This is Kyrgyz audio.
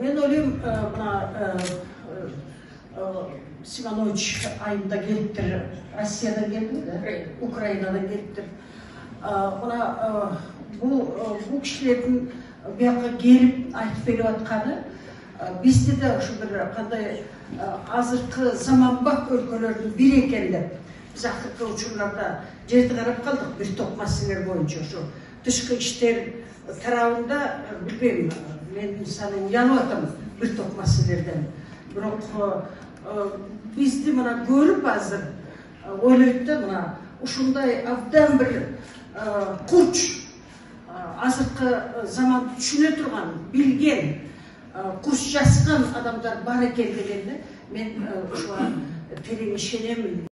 Мен ойлойм, мына Симонович айында келиптир, Россиядан келди, Украинадан келиптир. Мына бул кишилердин бияка келип айтып берип атканы бизде да ушу бир кандай азыркы заманбап өлкөлөрдүн бири экен деп. Биз акыркы учурларда жерди карап калдык бир топ маселелер боюнча. Ошо тышкы иштер тарабында билбейм, мен мисалы уянып атам бир топ маселелерден. Бирок бизди мына көрүп азыр ойлойт да, мына ушундай абдан бир курч, азыркы заманды түшүнө турган, билген, курч жазган адамдар бар экен дегенде мен ушуга терең ишенемин.